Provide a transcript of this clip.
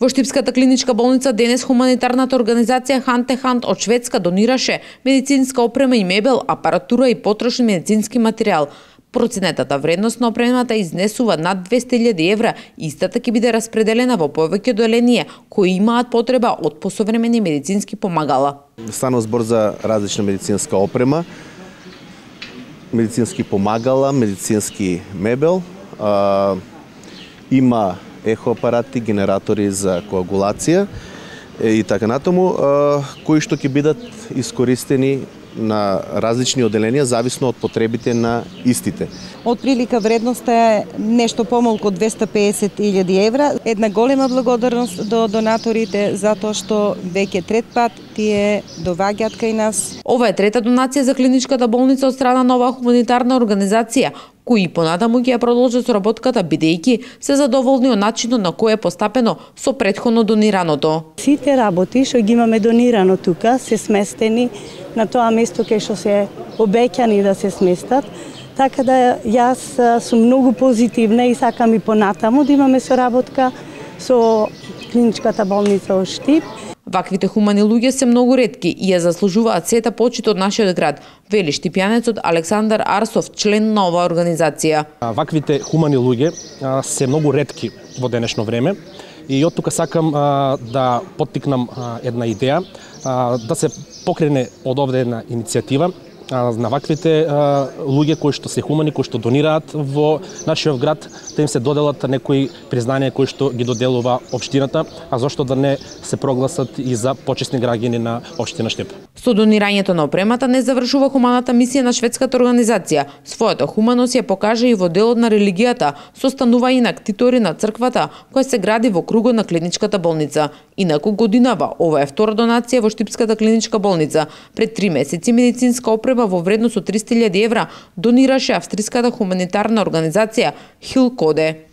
Во Штипската клиничка болница денес хуманитарната организација Ханте Хант од Шведска донираше медицинска опрема и мебел, апаратура и потрошен медицински материјал. Проценетата вредност на опремата изнесува над 200.000 евра. Истата ќе биде распределена во повеќе одделенија кои имаат потреба од посовремени медицински помагала. Станува збор за различна медицинска опрема, медицински помагала, медицински мебел, има ехоапарати, генератори за коагулација и така натаму, кои што ќе бидат искористени на различни одделенија зависно од потребите на истите. Од прилика вредноста е нешто помалку од 250.000 евра. Една голема благодарност до донаторите затоа што веќе трет пат тие доваѓаат кај нас. Ова е трета донација за клиничката болница од страна на оваа хуманитарна организација, кои понатаму ќе ја продолжат соработката бидејќи се задоволни од начинот на кој е постапено со претходно донираното. Сите работи што ги имаме донирано тука се сместени на тоа место кај што се обеќани да се сместат. Така да јас сум многу позитивна и сакам и понатаму да имаме соработка со клиничката болница од Штип. Ваквите хумани луѓе се многу ретки и ја заслужуваат сета почит од нашиот град, вели штипјанецот Александар Арсов, член на оваа организација. Ваквите хумани луѓе се многу ретки во денешно време и од тука сакам да поттикнам една идеја, да се покрене од овде една иницијатива на ваквите луѓе кои што се хумани, кои што донираат во нашиот град, да им се доделат некои признанија кои што ги доделува општината, а зошто да не се прогласат и за почесни граѓани на општина Штип. Со донирањето на опремата не завршува хуманата мисија на шведската организација. Својата хуманост ја покажа и во делот на религијата, состанува и на ктитори на црквата, која се гради во кругот на клиничката болница. Инаку годинава, ова е втора донација во Штипската клиничка болница. Пред 3 месеци медицинска опрема во вредност од 300.000 евра донираше австриската хуманитарна организација Хил Коде.